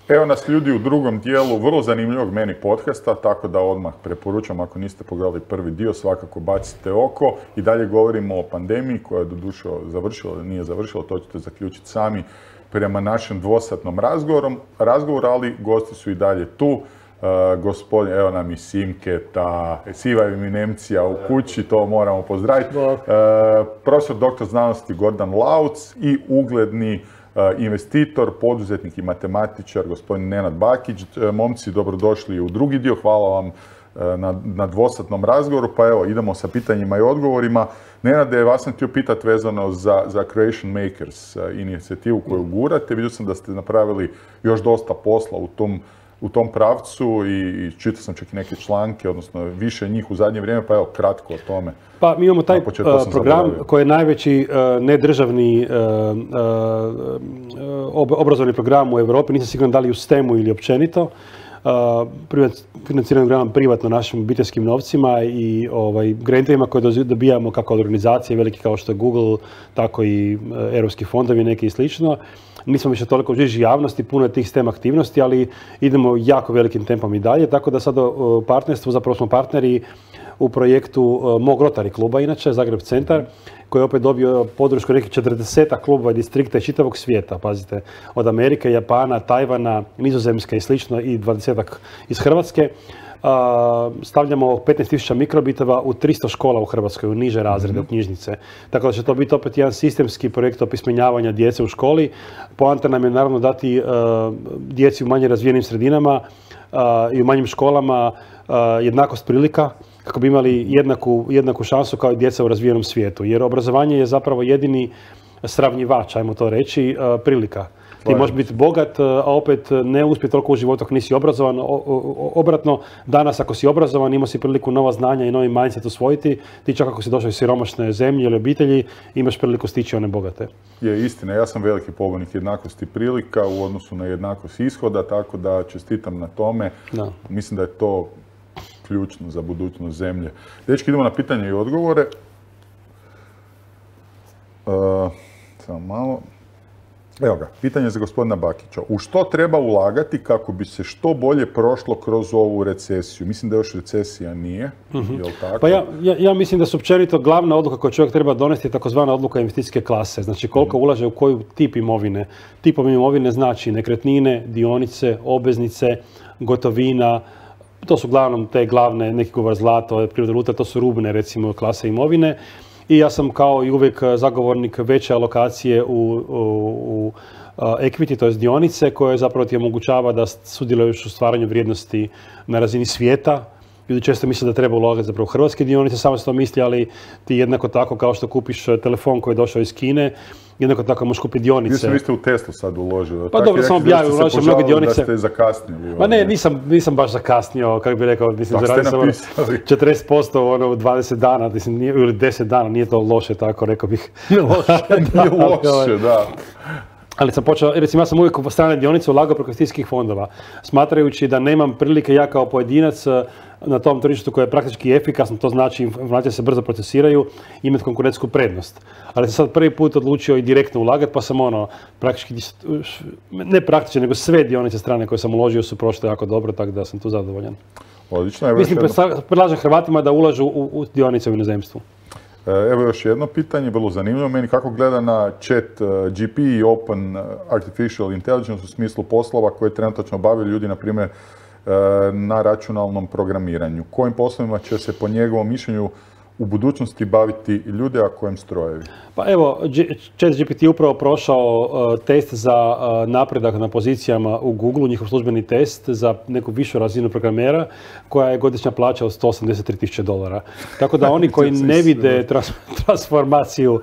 Evo nas ljudi u drugom dijelu vrlo zanimljivog meni podcasta, tako da odmah preporučam, ako niste pogledali prvi dio, svakako bacite oko. I dalje govorimo o pandemiji koja je doduše završila ili nije završila, to ćete zaključiti sami prema našem dvosatnom razgovoru, ali gosti su i dalje tu. Gospodin, evo nam i Simketa, siva eminencija u kući, to moramo pozdraviti. Profesor doktor znanosti Gordan Lauc i ugledni investitor, poduzetnik i matematičar gospodin Nenad Bakić. Momci, dobrodošli u drugi dio. Hvala vam na dvosatnom razgovoru. Pa evo, idemo sa pitanjima i odgovorima. Nenade, vas sam htio pitati vezano za Creation Makers inicijativu koju gurate. Vidio sam da ste napravili još dosta posla u tom pravcu i čitao sam čak i neke članke, odnosno više njih u zadnje vrijeme, pa evo, kratko o tome. Pa mi imamo taj program koji je najveći nedržavni obrazovni program u Europi, nisam siguran da li u STEM-u ili općenito. Financiran program privatno našim obiteljskim novcima i grantovima koje dobijamo kako od organizacije velike kao što je Google, tako i europski fondovi neki i slično. Nismo više toliko u žiži javnosti, puno je tih STEM aktivnosti, ali idemo jako velikim tempom i dalje, tako da sad u partnerstvu zapravo smo partneri u projektu mog Rotary kluba, inače, Zagreb centar, koji je opet dobio podršku nekih 40 klubova i distrikta iz čitavog svijeta, pazite, od Amerike, Japana, Tajvana, Nizozemske i slično i 20 iz Hrvatske. Stavljamo 15.000 mikrobitova u 300 škola u Hrvatskoj, u niže razrede, u knjižnice. Tako da će to biti opet jedan sistemski projekt opismenjavanja djece u školi. Poanta nam je naravno dati djeci u manje razvijenim sredinama i u manjim školama jednakost prilika, kako bi imali jednaku šansu kao i djeca u razvijenom svijetu. Jer obrazovanje je zapravo jedini sravnjivač, ajmo to reći, prilika. Ti možeš biti bogat, a opet ne uspjeti toliko u životu ako nisi obrazovan. Obratno, danas ako si obrazovan, imao si priliku nova znanja i novi mindset usvojiti. Ti čak ako si došao iz siromašne zemlje ili obitelji, imaš priliku stići one bogate. Je istina, ja sam veliki pobornik jednakosti prilika u odnosu na jednakost ishoda, tako da čestitam na tome. Da. Mislim da je to ključno za budućnost zemlje. Dečki, idemo na pitanje i odgovore. Samo malo. Evo ga, pitanje za gospodina Bakića. U što treba ulagati kako bi se što bolje prošlo kroz ovu recesiju? Mislim da još recesija nije, je li tako? Pa ja mislim da su općenito glavna odluka koju čovjek treba donesti je takozvana odluka investicijske klase. Znači koliko ulaže u koju tip imovine. Tipom imovine znači nekretnine, dionice, obveznice, gotovina. To su uglavnom te glavne, neki govor zlato, prirodne valute, to su rubne recimo klase imovine. I ja sam kao i uvijek zagovornik veće alokacije u equity, to je dionice, koje zapravo ti omogućava da sudjeluješ u stvaranju vrijednosti na razini svijeta. Ljudi često misle da treba ulagati zapravo u hrvatske dionice, samo se to misli, ali ti jednako tako kao što kupiš telefon koji je došao iz Kine, jednako tako možeš kupiti dionice. Vi ste u Teslu sad uložili. Pa dobro, sam objavio, ulažio mnoge dionice. Da ste zakasnili. Ma ne, nisam baš zakasnio, kako bih rekao, mislim, zaradio sam 40% u 20 dana, ili 10 dana, nije to loše, tako rekao bih. Nije loše, da. Ali sam počeo, recimo ja sam uvijek u strane dionice ulagao preko investicijskih fondova, smatrajući da nemam prilike ja kao pojedinac na tom tržištu koje je praktički efikasno, to znači informacije se brzo procesiraju, imati konkurentsku prednost. Ali sam sad prvi put odlučio i direktno ulagati, pa sam praktički, ne praktički, nego sve dionice strane koje sam uložio su prošle jako dobro, tako da sam tu zadovoljan. Odlično. Mislim, predlažem Hrvatima da ulažu u dionice u inozemstvu. Evo još jedno pitanje, vrlo zanimljivo meni. Kako gleda na chat GP i Open Artificial Intelligence u smislu poslova koje trenutačno obavljaju ljudi, na primjer, na računalnom programiranju? Kojim poslovima će se po njegovom mišljenju u budućnosti baviti ljudi, a kojem strojevi? Pa evo, ChatGPT je upravo prošao test za napredak na pozicijama u Google, njihov službeni test za neku višu razinu programera koja je godišnja plaća od $183.000. Tako da oni koji ne vide transformaciju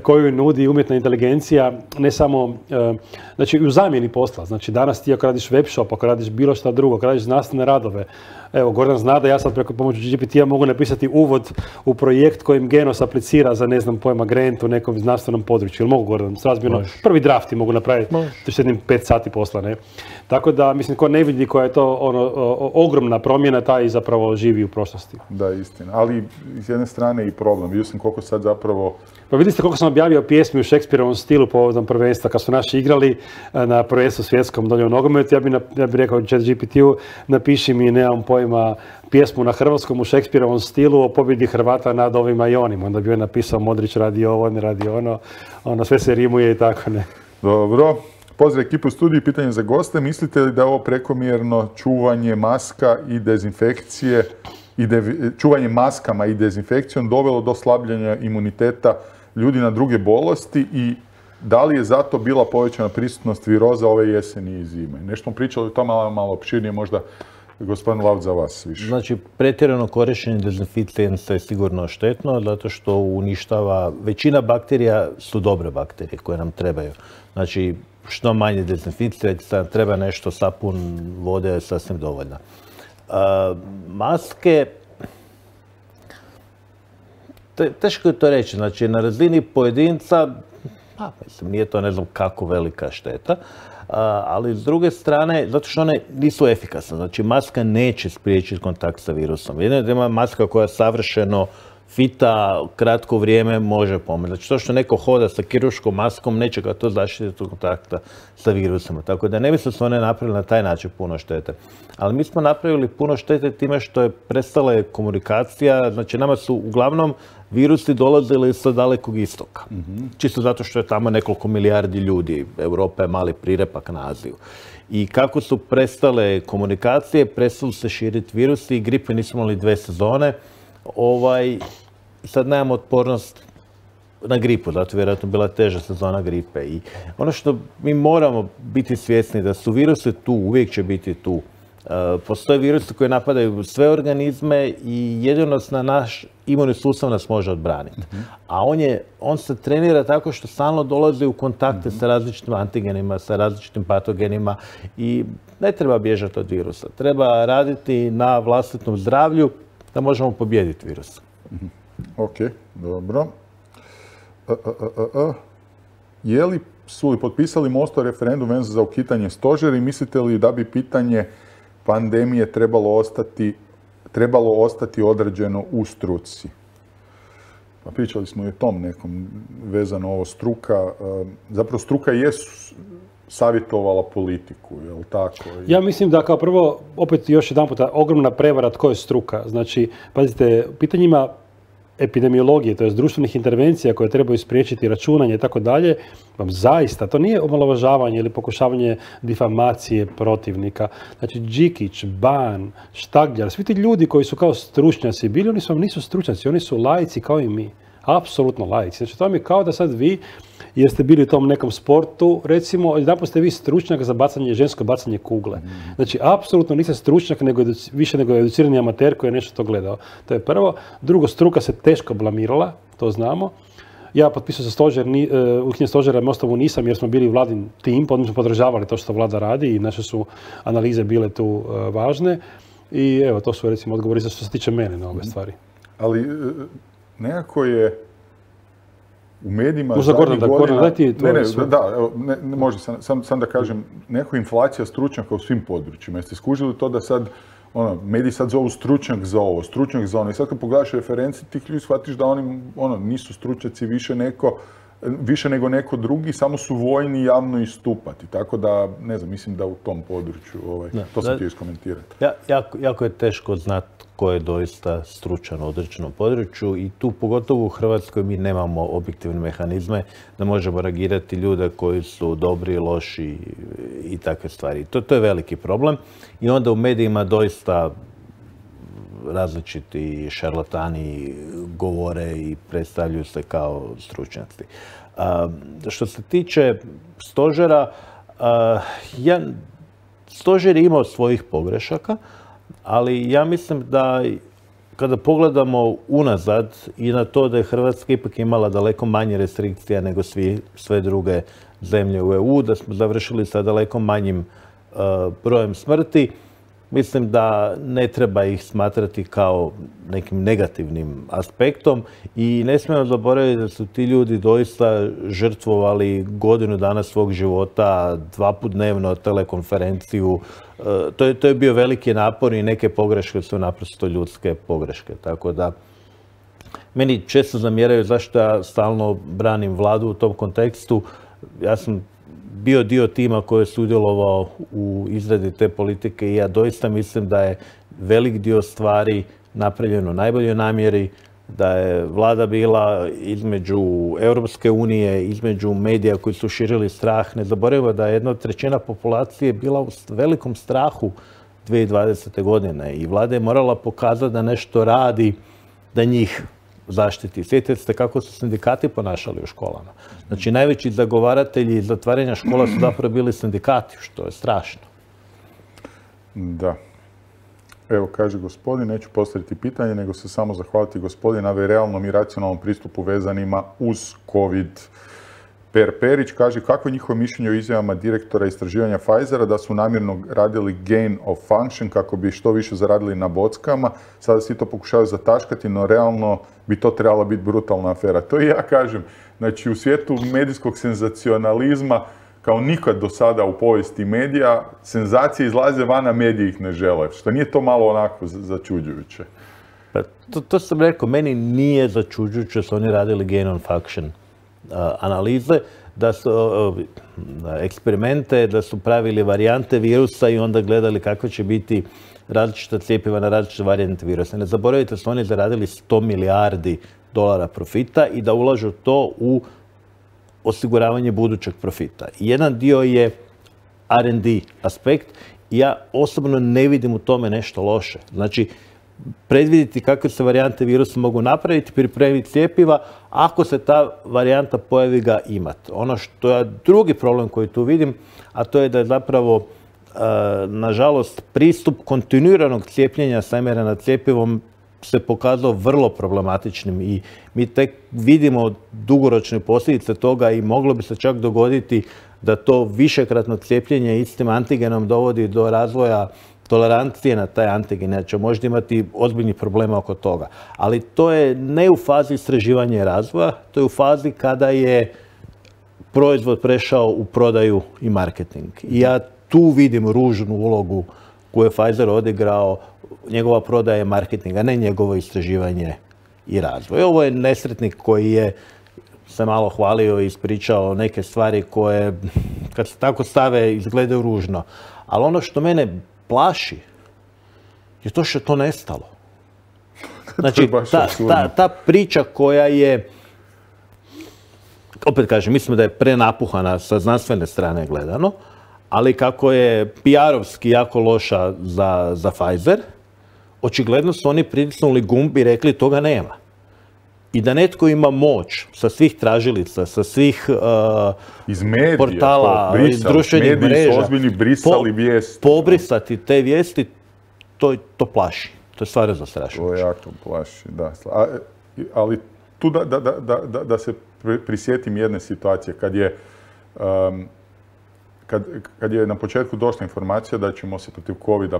koju nudi umjetna inteligencija, ne samo, znači u zamjeni posla, znači danas ti ako radiš web shop, ako radiš bilo šta drugo, ako radiš znanstvene radove, evo, Gordan zna da ja sad preko pomoću GPT-a mogu napisati uvod u u projekt kojim Genos aplicira za, ne znam, pojma, grant u nekom znanstvenom području. Ili mogu, Gordon, srazmjerno, prvi drafti mogu napraviti, to je jednim 5 sati posla, ne? Tako da, mislim, ko ne vidi koja je to ogromna promjena, taj zapravo živi u prošlosti. Da, istina. Ali, s jedne strane i problem. Vidio sam koliko sad zapravo... Pa vidite koliko sam objavio pjesmi u Šekspirovom stilu povodom prvenstva, kad su naši igrali na prvenstvu svjetskom dolje u nogometu, ja bi rekao ChatGPT-u, napiši mi, nemam pojma, pjesmu na hrvatskom u Šekspirovom stilu o pobjedi Hrvata nad ovima i onima. Onda bi joj napisao Modrić radi ovo, ne radi ono, sve se rimuje i tako, ne. Dobro. Pozdrav ekipu u studiju, pitanje za goste. Mislite li da je ovo prekomjerno čuvanje maska i dezinfekcije čuvanje maskama i dezinfekcijom dovelo do slabljenja imuniteta ljudi na druge bolesti i da li je zato bila povećana prisutnost viroza ove jeseni i zime? Nešto smo pričali o tome malo opširnije, možda gospodin Laut za vas više. Znači, pretjerano korištenje dezinficijensa je sigurno štetno, zato što uništava, većina bakterija su dobre bakterije koje nam trebaju. Znači, što manje dezinficijensa, treba nešto, sapun, vode je sasvim dovoljna. Maske, teško je to reći, znači na razini pojedinca, mislim, nije to ne znam kako velika šteta, ali s druge strane, zato što one nisu efikasne, znači maska neće spriječiti kontakt sa virusom. Jedno je da ima maska koja savršeno fita, kratko vrijeme može pomoći. Znači to što neko hoda sa kirurškom maskom, neće ga to zaštititi od kontakta sa virusima. Tako da ne bi se one napravili na taj način puno štete. Ali mi smo napravili puno štete time što je prestala komunikacija. Znači nama su uglavnom virusi dolazili sa dalekog istoka. Čisto zato što je tamo nekoliko milijardi ljudi. Europa je mali prirepak na Aziju. I kako su prestale komunikacije, prestali se širiti virusi i gripe nismo imali 2 sezone. Sad nemamo otpornost na gripu, zato je vjerojatno bila teža sezona gripe. I ono što mi moramo biti svjesni da su virusi tu, uvijek će biti tu. Postoje virusi koji napadaju sve organizme i jedino na naš imunni sustav nas može odbraniti. A on se trenira tako što stalno dolazi u kontakte sa različitim antigenima, sa različitim patogenima i ne treba bježati od virusa. Treba raditi na vlastitom zdravlju da možemo pobijediti virus. Ok, dobro. Su li potpisali Mostov referendum vezano za ukidanje stožera i mislite li da bi pitanje pandemije trebalo ostati određeno u struci? Pa pričali smo i o tom nekom vezano ovo struka. Zapravo struka je savjetovala politiku, je li tako? Ja mislim da kao prvo, opet još jedan puta, ogromna prevara tko je struka. Znači, pazite, pitanjima epidemiologije, to je društvenih intervencija koje trebaju spriječiti računanje i tako dalje, vam zaista, to nije omalovažavanje ili pokušavanje difamacije protivnika. Znači, Đikić, Ban, Štagljar, svi ti ljudi koji su kao stručnjaci bili, oni su vam nisu stručnjaci, oni su laici kao i mi. Apsolutno laici. Znači, to vam je kao da sad vi, jer ste bili u tom nekom sportu, recimo, jedanput ste vi stručnjak za žensko bacanje kugle. Znači, apsolutno niste stručnjak, više nego educirani amater koji je nešto to gledao. To je prvo. Drugo, struka se teško blamirala, to znamo. Ja potpisao za stožer, ukidanje stožera Mostovu nisam jer smo bili vladin tim, pa smo podržavali to što vlada radi i naše su analize bile tu važne. I evo, to su recimo odgovori za što se tiče mene na ove stvari. Ali nekako je u medijima možda zadnjih godina... Može sam da kažem, nekako inflacija stručnjaka u svim područjima. Jeste skužili to da sad, mediji sad zovu stručnjak za ovo, stručnjak za ono. I sad kad pogledaš referencije, tih ljudi shvatiš da oni nisu stručnjaci više nego neko drugi, samo su voljni javno istupati. Tako da, ne znam, mislim da u tom području, to sam htio iskomentirati. Jako je teško znati ko je doista stručan u određenom području i tu, pogotovo u Hrvatskoj, mi nemamo objektivne mehanizme da možemo reagirati ljude koji su dobri, loši i takve stvari. To je veliki problem i onda u medijima doista različiti šarlatani govore i predstavljaju se kao stručnjaci. Što se tiče stožera, stožer je imao svojih pogrešaka, ali ja mislim da kada pogledamo unazad i na to da je Hrvatska ipak imala daleko manje restrikcija nego sve druge zemlje u EU, da smo završili sa daleko manjim brojem smrti, mislim da ne treba ih smatrati kao nekim negativnim aspektom i ne smijemo zaboraviti da su ti ljudi doista žrtvovali godinu dana svog života, 2 puta dnevno telekonferenciju. To je bio veliki napor i neke pogreške su naprosto ljudske pogreške. Tako da, meni često zamjeraju zašto ja stalno branim vladu u tom kontekstu. Ja sam bio dio tima koji je sudjelovao u izradi te politike i ja doista mislim da je velik dio stvari napravljeno u najboljoj namjeri, da je vlada bila između Europske unije, između medija koji su širili strah. Ne zaboravimo da je 1/3 populacije bila u velikom strahu 2020. godine i vlada je morala pokazati da nešto radi, da njih zaštiti. Sjetite se kako su sindikati ponašali u školama. Znači, najveći zagovaratelji zatvaranja škola su zapravo bili sindikati, što je strašno. Da. Evo, kaže gospodin, neću postaviti pitanje, nego se samo zahvaliti gospodinu na realnom i racionalnom pristupu vezanima uz COVID. Perić kaže kako je njihovo mišljenje o izjavama direktora istraživanja Pfizera da su namjerno radili gain of function kako bi što više zaradili na bockama. Sada svi to pokušavaju zataškati, no realno bi to trebala biti brutalna afera. To i ja kažem. Znači, u svijetu medijskog senzacionalizma, kao nikad do sada u povijesti medija, senzacije izlaze van, a mediji ih ne žele. Što nije to malo onako začuđujuće? To sam rekao, meni nije začuđujuće da su oni radili gain of function analize, da su eksperimente, da su pravili varijante virusa i onda gledali kako će biti različita cjepiva na različite varijante virusa. Ne zaboravite da su oni zaradili $100 milijardi profita i da ulažu to u osiguravanje budućeg profita. Jedan dio je R&D aspekt i ja osobno ne vidim u tome nešto loše. Znači, predvidjeti kakve se varijante virusa mogu napraviti, pripremiti cjepiva, ako se ta varijanta pojavi ga imati. Ono što je drugi problem koji tu vidim, a to je da je zapravo, nažalost, pristup kontinuiranog cijepljenja sa mRNA cjepivom se pokazao vrlo problematičnim i mi tek vidimo dugoročne posljedice toga i moglo bi se čak dogoditi da to višekratno cijepljenje istim antigenom dovodi do razvoja tolerancije na taj antigen, znači možda imati ozbiljnih problema oko toga. Ali to je ne u fazi istraživanja i razvoja, to je u fazi kada je proizvod prešao u prodaju i marketing. I ja tu vidim ružnu ulogu koju je Pfizer odigrao, njegova prodaja je marketing, a ne njegovo istraživanje i razvoj. Ovo je nesretnik koji je se malo hvalio i ispričao neke stvari koje, kad se tako stave, izgledaju ružno. Ali ono što mene plaši je to što je to nestalo. Znači, ta priča koja je, opet kažem, mislim da je prenapuhana sa znanstvene strane gledano, ali kako je PR-ovski jako loša za Pfizer, očigledno su oni pritisnuli gumb i rekli toga nema. I da netko ima moć sa svih tražilica, sa svih iz medija, portala, iz društvenih mreža, pobrisati te vijesti, to plaši. To je stvarno zastrašujuće. To jako plaši, da. Ali tu da se prisjetim jedne situacije, kad je na početku došla informacija da ćemo se protiv COVID-a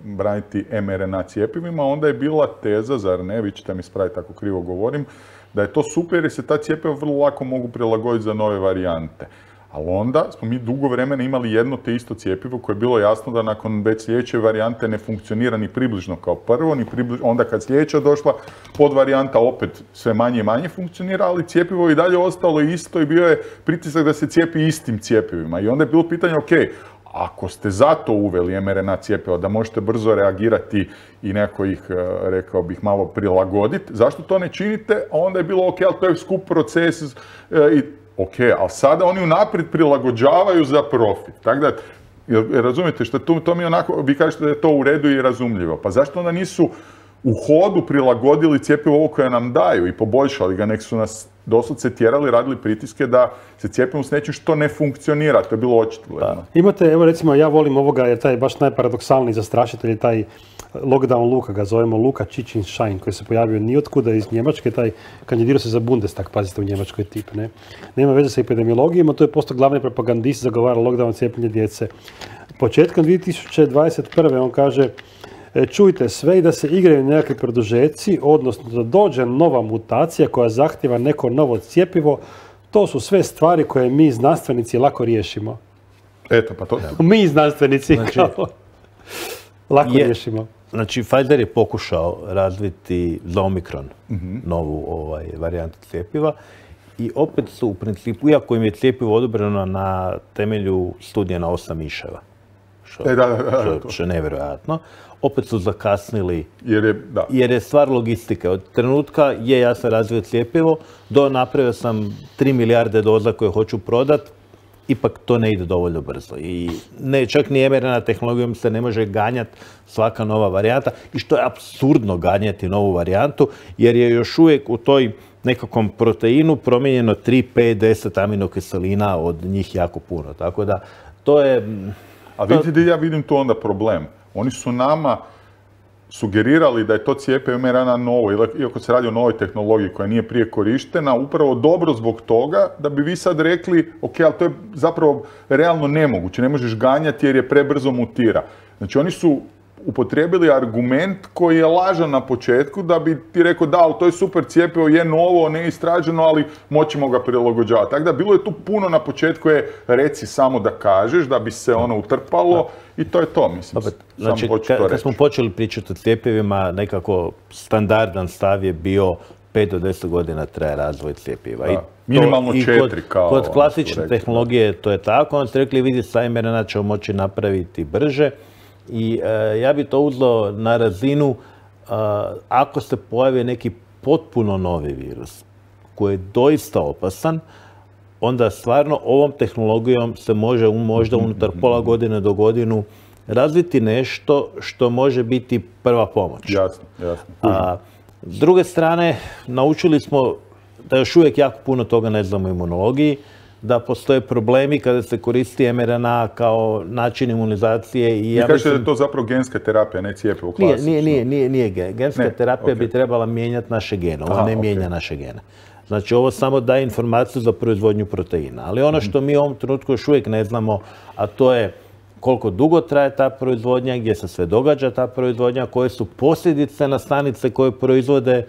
braniti mRNA cjepivima, onda je bila teza, zar ne, vi ćete mi ispraviti ako krivo govorim, da je to super jer se ta cjepiva vrlo lako mogu prilagoditi za nove varijante. Ali onda smo mi dugo vremena imali jedno te isto cjepivo koje je bilo jasno da nakon već sljedeće varijante ne funkcionira ni približno kao prvo, onda kad sljedeća došla podvarijanta opet sve manje i manje funkcionira, ali cjepivo je i dalje ostalo isto i bio je pritisak da se cijepi istim cjepivima. I onda je bilo pitanje, ok, ako ste zato uveli mRNA cjepiva, da možete brzo reagirati i nekako ih, rekao bih, malo prilagoditi, zašto to ne činite? A onda je bilo, ok, ali to je skup proces i ok, ali sada oni unaprijed prilagođavaju za profit. Tako da, razumijete, što to mi onako, vi kažete da je to u redu i razumljivo. Pa zašto onda nisu u hodu prilagodili cjepivo ovo koje nam daju i poboljšali ga, nek su nas doslovce tjerali, radili pritiske da se cijepimo s nečim što ne funkcionira. To je bilo očigledno. Imate, evo recimo, ja volim ovoga, jer taj baš najparadoksalniji zastrašitelj je taj lockdown Luka, ga zovemo Luka Čicin-Šajn, koji se pojavio nijotkuda iz Njemačke, taj kandidirao se za Bundestag, pazite, u Njemačkoj tip, ne? Nema veze sa epidemiologijom, a to je postao glavni propagandist, zagovara lockdown cijepljenje djece. početkom 2021. on kaže čujte sve i da se igraju nekakvi produžeci, odnosno da dođe nova mutacija koja zahtjeva neko novo cjepivo, to su sve stvari koje mi znanstvenici lako riješimo. Eto, pa to... Mi znanstvenici lako riješimo. Znači, Pfizer je pokušao razviti za Omikron novu varijantu cjepiva i opet su u principu, iako im je cjepivo odobreno na temelju studija na 8 miševa, što je nevjerojatno, opet su zakasnili jer je stvar logistike. Od trenutka ja sam razvio cjepivo, napravio sam 3 milijarde doza koje hoću prodati, ipak to ne ide dovoljno brzo. I čak ni mRNA tehnologijom se ne može ganjati svaka nova varijanta i što je apsurdno ganjati novu varijantu, jer je još uvijek u toj nekakvom proteinu promijenjeno 3, 5, 10 aminokiselina, od njih jako puno. Tako da, to je... A vidite da ja vidim tu onda problem. Oni su nama sugerirali da je to cjepivo mRNA novo, iako se radi o novoj tehnologiji koja nije prije korištena, upravo dobro zbog toga da bi vi sad rekli, ok, ali to je zapravo realno nemoguće, ne možeš ganjati jer je prebrzo mutira. Znači oni su upotrijebili argument koji je lažan na početku da bi ti rekao da, ali to je super cjepivo, je novo, ne istraženo, ali moćemo ga prilagođavati. Tako da bilo je tu puno na početku reci samo da kažeš, da bi se ono utrpalo i to je to, mislim. Znači, kad smo počeli pričati o cjepivima, nekako standardan stav je bio 5 do 10 godina traje razvoj cjepiva. Minimalno 4 kao... Kod klasične tehnologije to je tako, onda ste rekli vidi sa mRNA ćemo moći napraviti brže. I ja bi to uzeo na razinu ako se pojavi neki potpuno novi virus koji je doista opasan, onda stvarno ovom tehnologijom se može možda unutar pola godine do godinu razviti nešto što može biti prva pomoć. Jasno. S druge strane, naučili smo da još uvijek jako puno toga ne znamo o imunologiji, da postoje problemi kada se koristi mRNA kao način imunizacije. I ja kažete da je to zapravo genska terapija, ne cjepivo klasično? Nije genska terapija bi trebala mijenjati naše gene, ona ne mijenja naše gene. Znači ovo samo daje informaciju za proizvodnju proteina. Ali ono što mi u ovom trenutku još uvijek ne znamo, a to je koliko dugo traje ta proizvodnja, gdje se sve događa ta proizvodnja, koje su posljedice na stanice koje proizvode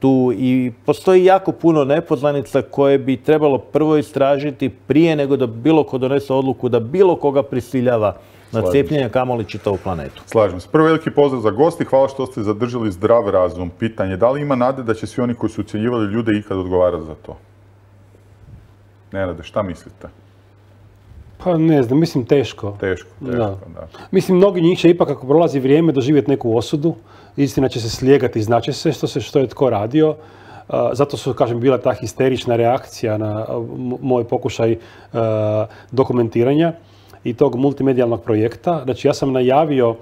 tu i postoji jako puno nepoznanica koje bi trebalo prvo istražiti prije nego da bilo ko donese odluku da bilo koga prisiljava na cijepljenje, kamoli čitavu planetu. Slažem se. Prvo veliki pozdrav za gosti, hvala što ste zadržali zdrav razum. Pitanje, da li ima nade da će svi oni koji su ucjenjivali ljude ikad odgovarati za to? Nenade, šta mislite? Pa ne znam, mislim teško. Teško, da. Mislim, mnogi njih će ipak, ako prolazi vrijeme, doživjeti neku osudu. Istina će se slijegati i znaće se što je tko radio. Zato su, kažem, bila ta histerična reakcija na moj pokušaj dokumentiranja i tog multimedijalnog projekta. Znači, ja sam najavio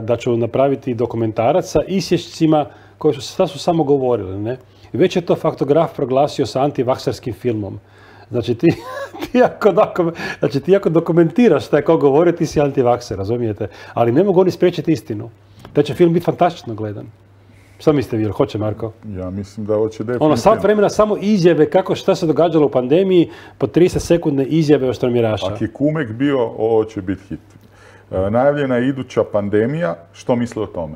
da ću napraviti dokumentarac sa isječcima koji su samo govorili. Ne? I već je to faktograf proglasio sa antivakserskim filmom. Znači ti ako dokumentiraš šta je ko govori, ti si antivakser, razumijete? Ali ne mogu oni spriječiti istinu. Taj će film biti fantastično gledan. Šta mislite vi, hoće Marko? Ja mislim da hoće definitivno. Sat vremena samo izjave šta se događalo u pandemiji, po 30 sekundne izjave o štromiraša. Ako je Kumek bio, ovo će biti hit. Najavljena je iduća pandemija, što misle o tome?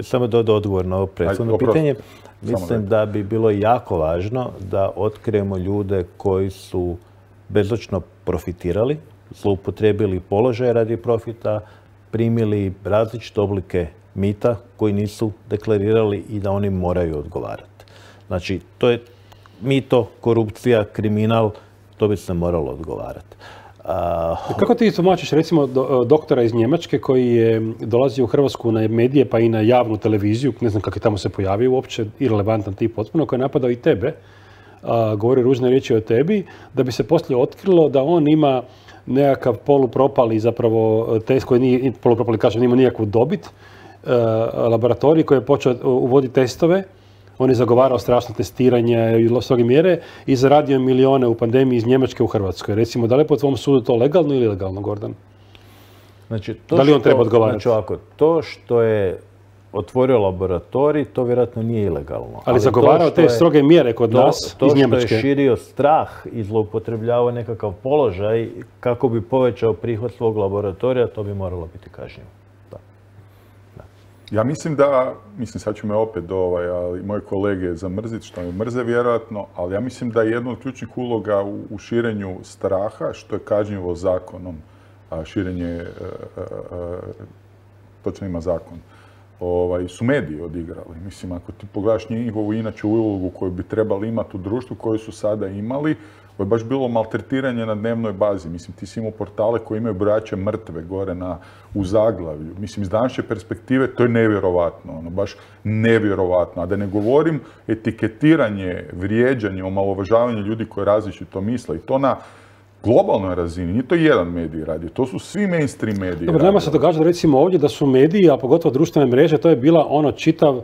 Samo da odgovor na ovo prethodno pitanje. Mislim da bi bilo jako važno da otkrijemo ljude koji su bezočno profitirali, zloupotrijebili položaje radi profita, primili različite oblike mita koji nisu deklarirali i da oni moraju odgovarati. Znači, to je mito, korupcija, kriminal, to bi se moralo odgovarati. Kako ti tumačiš, recimo, doktora iz Njemačke koji je dolazio u Hrvatsku na medije pa i na javnu televiziju, ne znam kako je tamo se pojavio uopće, irelevantan tip potpuno, koji je napadao i tebe, govori ružne riječi o tebi, da bi se poslije otkrilo da on ima nekakav polupropali zapravo test koji nije polupropali, kažem, nema nikakvu dobit, laboratorij koji je počeo uvoditi testove. On je zagovarao strašno testiranje i stroge mjere i zaradio milijone u pandemiji iz Njemačke u Hrvatskoj. Recimo, da li je po tvom sudu to legalno ili ilegalno, Gordan? Znači, da li on treba odgovarati? Znači, to što je otvorio laboratorij, to vjerojatno nije ilegalno. Ali zagovarao te stroge mjere kod nas iz Njemačke. To što je širio strah i zloupotrebljavao nekakav položaj kako bi povećao prihod svog laboratorija, to bi moralo biti kažnjivo. Ja mislim sad ću me opet ali moje kolege zamrziti, što me mrze vjerojatno, ali ja mislim da je jedna od ključnih uloga u širenju straha, što je kažnjivo zakonom, širenje, točno ima zakon, su mediji odigrali. Mislim, ako ti pogledaš njihovu inače ulogu koju bi trebali imati u društvu, koju su sada imali, ovo je baš bilo maltretiranje na dnevnoj bazi. Mislim, ti si imao portale koji imaju brojače mrtve gore u zaglavlju. Mislim, iz današnje perspektive to je nevjerovatno, baš nevjerovatno. A da ne govorim etiketiranje, vrijeđanje, omalovažavanje ljudi koji različito misle. I to na globalnoj razini, nije to jedan medij radio, to su svi mainstream mediji. Dobro, nama se događa recimo ovdje da su mediji, a pogotovo društvene mreže, to je bila čitav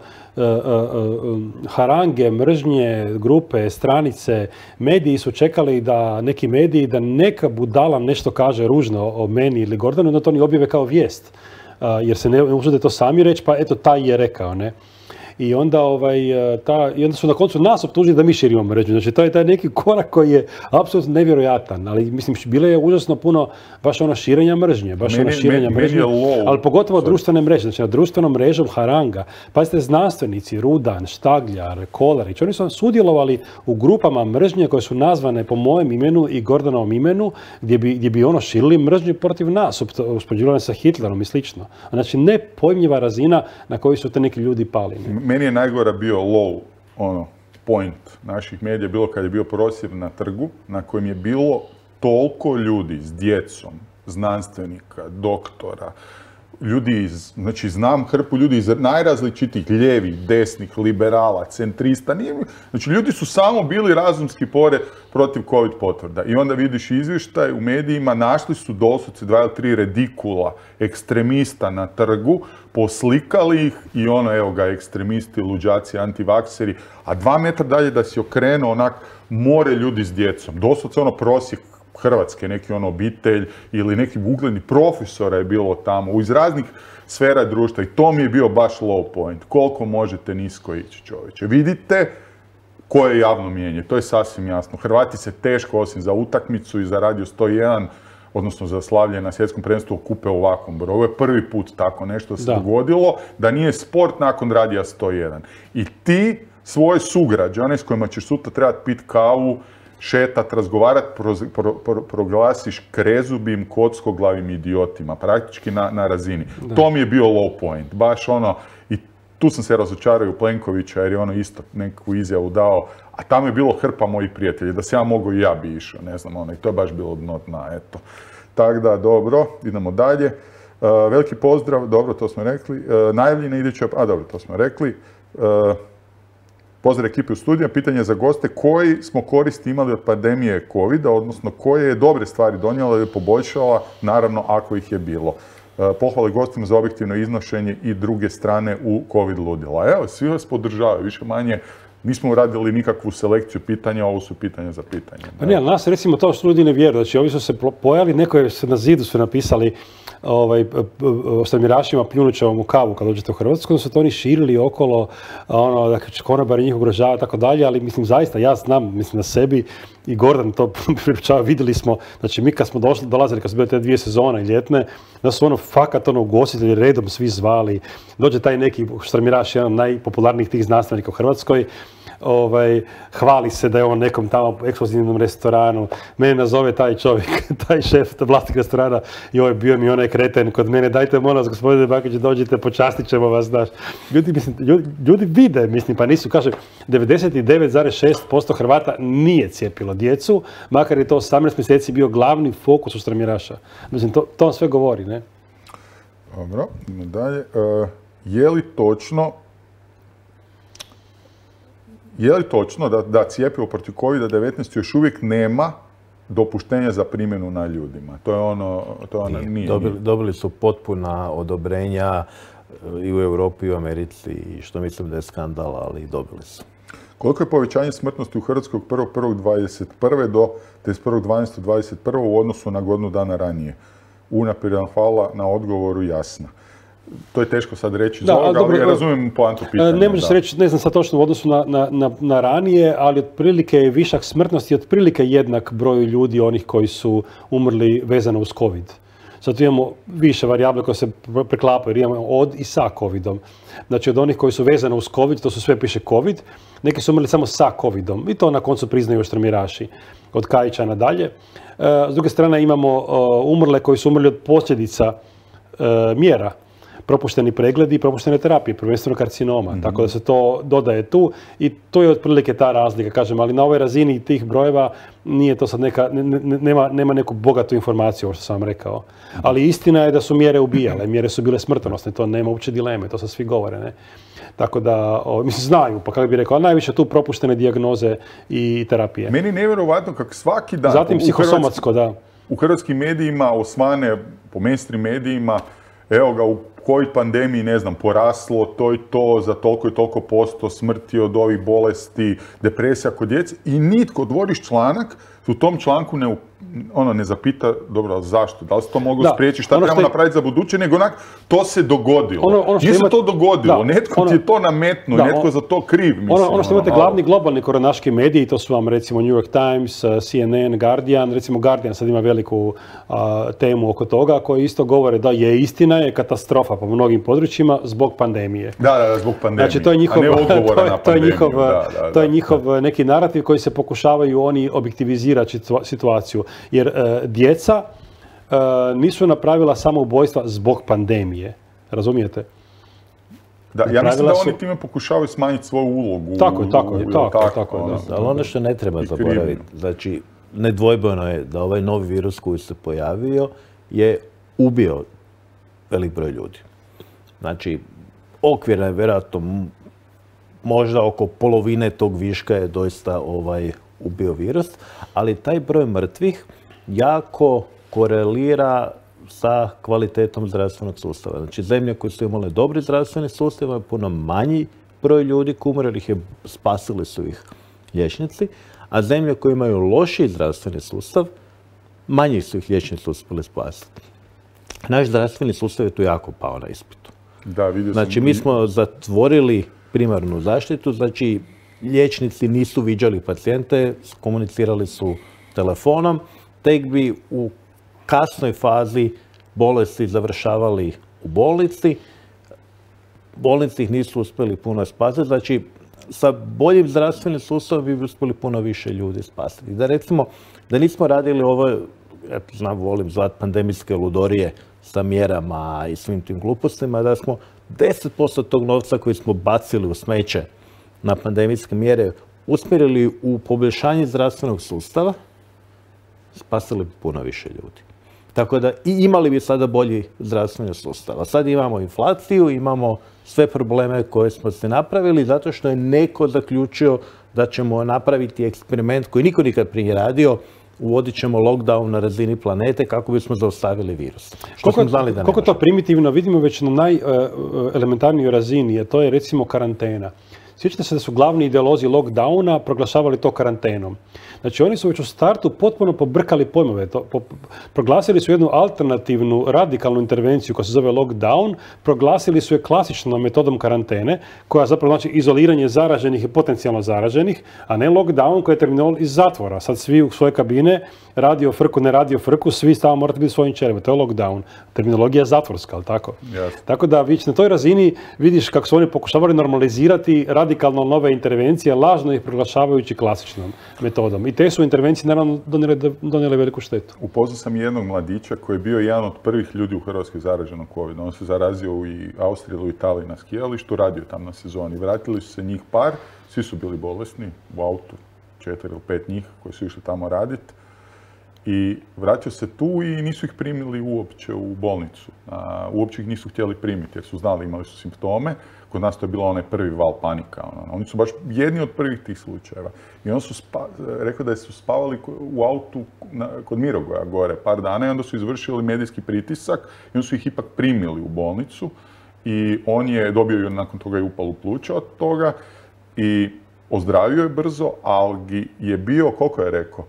harange, mržnje, grupe, stranice. Mediji su čekali da neki mediji, da neka budala nešto kaže ružno o meni ili Gordanu, da to oni objave kao vijest. Jer se ne usude to sami reći, pa eto, taj je rekao, ne? I onda, I onda su na koncu nas optužili da mi širimo mržnju. Znači, to je taj neki korak koji je apsolutno nevjerojatan. Ali, mislim, bilo je užasno puno baš širenja mržnje. Ali pogotovo društvene mreže. Znači, na društvenom mrežom haranga. Pazite, znanstvenici, Rudan, Štagljar, Kolarić, oni su sudjelovali u grupama mržnje koje su nazvane po mojem imenu i Gordanovom imenu, gdje bi širili mržnju protiv nas, uspoređivali sa Hitlerom i slično. Znači, nepojmljiva razina na koju su te neki ljudi pali. Meni je najgora bio low point naših medija, bilo kad je bio prosvjed na trgu, na kojem je bilo toliko ljudi s djecom, znanstvenika, doktora, ljudi znači znam hrpu ljudi iz najrazličitih ljevih, desnih, liberala, centrista, znači ljudi su samo bili razumski protiv COVID potvrda. I onda vidiš izvještaj u medijima, našli su doslovce 2 ili 3 redikula ekstremista na trgu, poslikali ih i evo ga, ekstremisti, luđaci, antivakseri, a 2 metra dalje da si okrenuo more ljudi s djecom. Doslovce prosjek Hrvatske, neki obitelj ili neki ugledni profesora je bilo tamo iz raznih sfera društva i to mi je bio baš low point. Koliko možete nisko ići, čovječe. Vidite koje je javno mijenje, to je sasvim jasno. Hrvati se teško, osim za utakmicu i za Radio 101, odnosno za slavlje na svjetskom prvenstvu, kupe u ovakvom broju. Ovo je prvi put tako nešto se dogodilo, da nije sport nakon Radija 101. I ti svoje sugrađane s kojima ćeš sutra trebati piti kavu, šetat, razgovarat, proglasiš krezubim, kockoglavim idiotima, praktički na razini. Da. To mi je bio low point, baš i tu sam se razočarao u Plenkovića jer je isto neku izjavu dao, a tamo je bilo hrpa mojih prijatelja, da se ja mogu i ja bi išao, ne znam, i to je baš bilo dno dna, eto. Tako da, dobro, idemo dalje. Veliki pozdrav, dobro, to smo rekli. Najavljena iduća, dobro, to smo rekli. Pozdrav ekipi u studiju. Pitanje za goste, koji smo koristi imali od pandemije COVID-a, odnosno koje je dobre stvari donijela ili poboljšala, naravno ako ih je bilo. Pohvale gostima za objektivno iznošenje i druge strane u COVID ludila. Evo, svi vas podržavaju, više manje. Nismo uradili nikakvu selekciju pitanja, ovo su pitanja za pitanje. Pa ne, ali nas recimo to što ljudi ne vjeruju. Znači, ovi su se pojavili, neko se na zidu su napisali ostamirašima pljunućevom u kavu kad dođete u Hrvatsku, onda su to oni širili okolo, da će konobari njih ugrožava i tako dalje, ali mislim zaista, ja znam, mislim na sebi i Gordon to pripričava, vidjeli smo, znači mi kad smo dolazili, kad su bile te 2 sezone ljetne, da su fakat ugostitelji redom svi zvali, dođe taj neki štamiraš, jedan od najpopularnijih tih znanstvenika u Hrvatskoj, hvali se da je on nekom tamo ekskluzivnom restoranu, mene nazove taj čovjek, taj šef, vlasnik restorana, joj, bio mi onaj kreten kod mene, dajte molim vas, gospodine Bakić, dođite, počastit ćemo vas, znaš. Ljudi vide, mislim, pa nisu, kaže, 99,6% Hrvata nije cijepilo djecu, makar je to 18 mjeseci bio glavni fokus ustremiraša. Mislim, to sve govori, ne? Dobro, idemo dalje. Je li točno da cjepivo protiv COVID-19 još uvijek nema dopuštenja za primjenu na ljudima? Nije. Dobili su potpuna odobrenja i u Europi i u Americi, što mislim da je skandal, ali dobili su. Koliko je povećanje smrtnosti u Hrvatskoj od 1.1.21. do 31.12.21. u odnosu na godinu dana ranije? Unaprijed vam hvala na odgovoru, jasno. to je teško sad reći iz ovoga, ali ja razumijem poantu pitanja. Ne može se reći, ne znam sad točno u odnosu na ranije, ali otprilike je višak smrtnosti otprilike jednak broju ljudi onih koji su umrli vezano uz COVID. Zato imamo više varijable koje se preklapaju, jer imamo od i sa COVID-om. Znači od onih koji su vezani uz COVID, to su sve piše COVID, neki su umrli samo sa COVID-om i to na koncu priznaju štrmiraši od Kajića nadalje. S druge strane imamo umrle koji su umrli od posljedica mjera, propušteni pregledi i propuštene terapije, prvenstveno karcinoma. Tako da se to dodaje tu i to je otprilike ta razlika, kažem, ali na ovoj razini tih brojeva nije to sad nema neku bogatu informaciju, ovo što sam vam rekao. Ali istina je da su mjere ubijale, mjere su bile smrtonosne, to nema uopće dileme, to sad svi govore, ne? Tako da, mislim, znaju, pa kako bih rekao, ali najviše tu propuštene dijagnoze i terapije. Meni je nevjerovatno kako svaki dan... Zatim psihosomatsko, da. U hrvatskim medijima osvane, po mainstream medijima, evo ga, u COVID pandemiji, ne znam, poraslo to i to, za toliko i toliko posto smrti od ovih bolesti, depresija kod djece i nitko, otvoriš članak, u tom članku ne zapita, dobro, zašto, da li se to moglo spriječiti, šta trebamo napraviti za buduće, nego onak, to se dogodilo. Nije se to dogodilo, netko ti je to nametnuo, netko za to kriv, mislim. Ono što imate glavni globalni koronaški mediji, to su vam recimo New York Times, CNN, Guardian, recimo Guardian sad ima veliku temu oko toga, koji isto govore da je istina, je katastrofa po mnogim područjima zbog pandemije. Da, zbog pandemije, znači, to je njihov, a ne odgovora na pandemiju. To je njihov neki narativ koji se pokušavaju oni objektivizirati situaciju. Jer djeca nisu napravila samoubojstva zbog pandemije. Razumijete? Da, ja mislim da oni time pokušavaju smanjiti svoju ulogu. Tako je. Ali ono što ne treba zaboraviti, znači, nedvojbeno je da ovaj novi virus koji se pojavio je ubio velik broj ljudi. Znači, okvirno je vjerojatno možda oko polovine tog viška je doista ubio virus, ali taj broj mrtvih jako korelira sa kvalitetom zdravstvenog sustava. Znači, zemlje koje su imale dobri zdravstveni sustav, je puno manji broj ljudi koji umrli, spasili su ih liječnici, a zemlje koje imaju lošiji zdravstveni sustav, manji su ih liječnici uspjeli spasiti. Naš zdravstveni sustav je tu jako pao na ispitu. Znači, mi smo zatvorili primarnu zaštitu, znači, liječnici nisu viđali pacijente, komunicirali su telefonom, tek bi u kasnoj fazi bolesti završavali u bolnici. Bolnici ih nisu uspjeli puno spasiti, znači sa boljim zdravstvenim sustavom bi uspjeli puno više ljudi spasiti. Da recimo, da nismo radili ovo, ja znam, volim zvati pandemijske ludorije sa mjerama i svim tim glupostima, da smo 10% tog novca koji smo bacili u smeće na pandemijske mjere usmjerili u poboljšanje zdravstvenog sustava, spasili bi puno više ljudi. Tako da i imali bi sada bolji zdravstveni sustav. A sad imamo inflaciju, imamo sve probleme koje smo se napravili zato što je neko zaključio da ćemo napraviti eksperiment koji niko nikad prije radio, uvodit ćemo lockdown na razini planete kako bismo zaustavili virus. Koliko to primitivno vidimo već na najelementarnijoj razini, a to je recimo karantena. Sjećate se da su glavni ideolozi lockdowna proglašavali to karantenom. Znači oni su već u startu potpuno pobrkali pojmove. Proglasili su jednu alternativnu, radikalnu intervenciju koja se zove lockdown, proglasili su je klasičnom metodom karantene, koja zapravo znači izoliranje zaraženih i potencijalno zaraženih, a ne lockdown koji je terminal iz zatvora. Sad svi u svoje kabine, radio frku, ne radio frku, svi stalno morate biti svojim čerima. To je lockdown. Terminologija je zatvorska, ali tako? Yes. Tako da već na toj razini vidiš kako su oni pokušavali normalizirati radikalno nove intervencije, lažno ih proglašavajući klasičnom metodom. I te su intervencije naravno donijele veliku štetu. Upoznao sam jednog mladića koji je bio jedan od prvih ljudi u Hrvatskoj zaraženog COVID. On se zarazio u Austriji ili u Italiji na skijalištu, radio tam na sezoni. Vratili su se njih par, svi su bili bolesni u autu, 4 ili 5 njih koji su išli tamo raditi. I vratio se tu i nisu ih primili uopće u bolnicu. Uopće ih nisu htjeli primiti jer su znali, imali su simptome. Kod nas to je bilo onaj prvi val panika. Oni su baš jedni od prvih tih slučajeva. I onda su rekao da su spavali u autu kod Mirogoja gore par dana i onda su izvršili medijski pritisak i onda su ih ipak primili u bolnicu. I on je dobio nakon toga i upalu pluća od toga i ozdravio je brzo, ali je bio, koliko je rekao,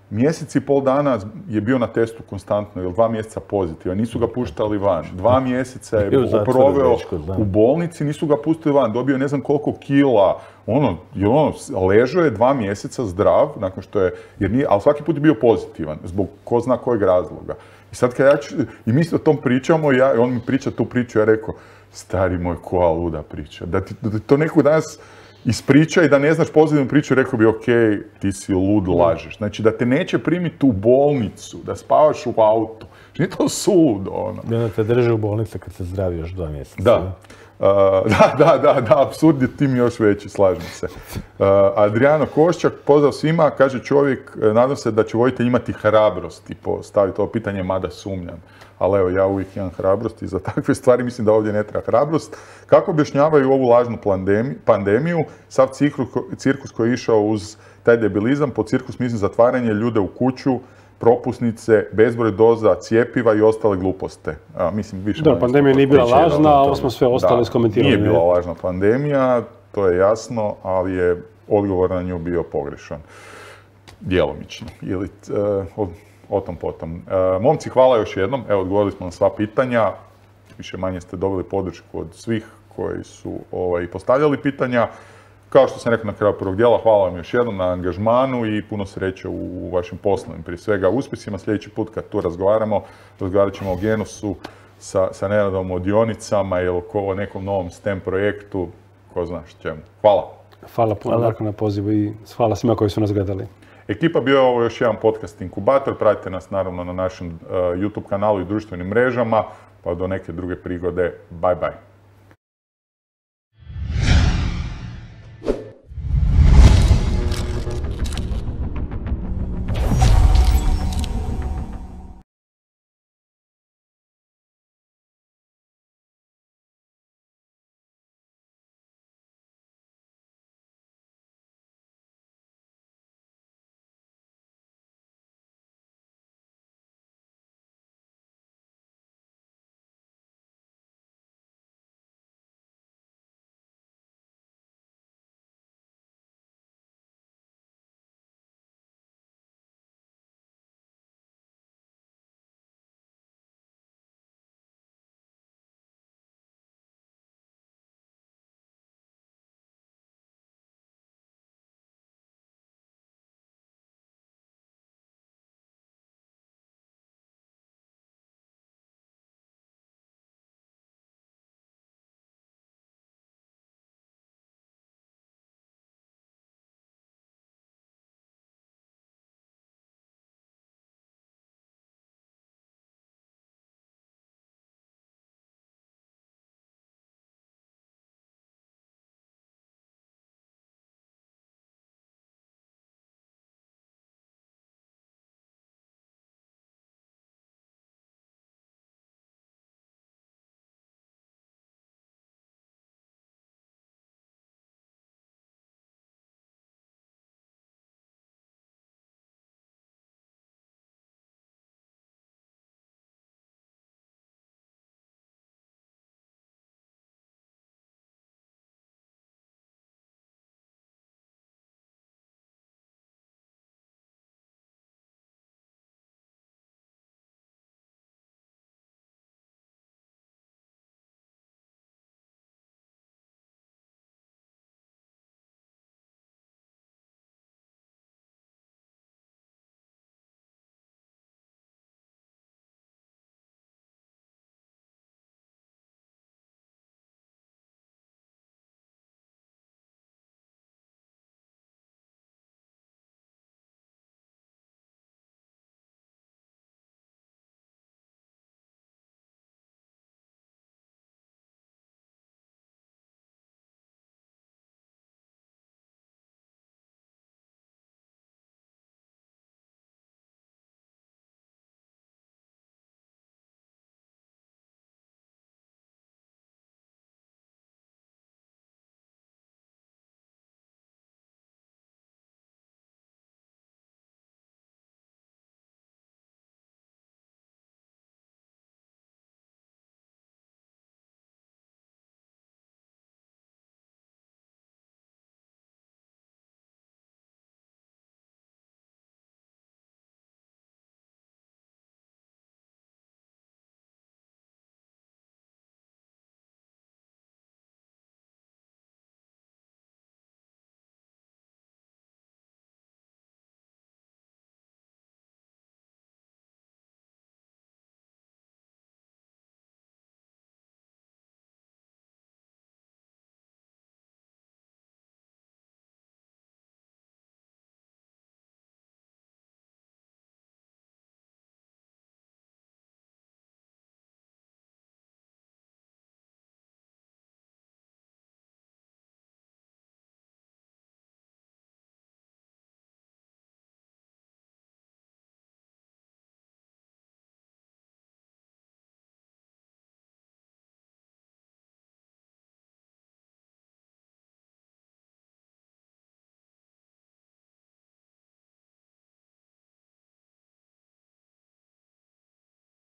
mjesec i pol dana je bio na testu konstantno, ili 2 mjeseca pozitivan, nisu ga puštali van. 2 mjeseca je proveo u bolnici, nisu ga pustili van, dobio ne znam koliko kila, ležao je 2 mjeseca zdrav, nakon što je, ali svaki put je bio pozitivan, zbog ko zna kojeg razloga. I sad kad i mi o tom pričamo, on mi priča tu priču, ja rekao, stari moj, koja luda priča, da ti to neko danas ispriča i da ne znaš pozitivnu priču, rekao bi, ok, ti si lud, lažeš. Znači, da te neće primiti u bolnicu, da spavaš u autu. Nije to suludo, ono. Da te drže u bolnici kad se zdravi još 2 mjeseca. Da. Da, apsurd je tim još veći, slažem se. Adriano Koščak, pozdrav svima, kaže čovjek, nadam se da će voditelj imati hrabrosti postaviti ovo pitanje, mada sumnjam. Ali evo, ja uvijek imam hrabrosti za takve stvari, mislim da ovdje ne treba hrabrost. Kako objašnjavaju ovu lažnu pandemiju, sav cirkus koji je išao uz taj debilizam, po cirkus mislim zatvaranje ljude u kuću, propusnice, bezbroj doza, cjepiva i ostale gluposte. Mislim, više da, pandemija nije bila lažna, a ovo smo sve ostali iskomentirali. Nije bila lažna pandemija, to je jasno, ali je odgovor na nju bio pogrešan. Djelomično. Ili o tom potom. Momci, hvala još jednom. Evo, odgovorili smo na sva pitanja. Više manje ste dobili podršku od svih koji su postavljali pitanja. Kao što sam rekao na kraju prvog dijela, hvala vam još jednom na angažmanu i puno sreće u vašim poslovnim, prije svega uspjesima. Sljedeći put kad tu razgovarat ćemo o Genusu sa Nenadom, o dionicama ili o nekom novom STEM projektu, ko zna čemu. Hvala. Hvala puno Darko na pozivu i hvala svima koji su nas gledali. Ekipa, bio je ovo još jedan podcast Inkubator. Pratite nas naravno na našem YouTube kanalu i društvenim mrežama, pa do neke druge prigode. Bye bye.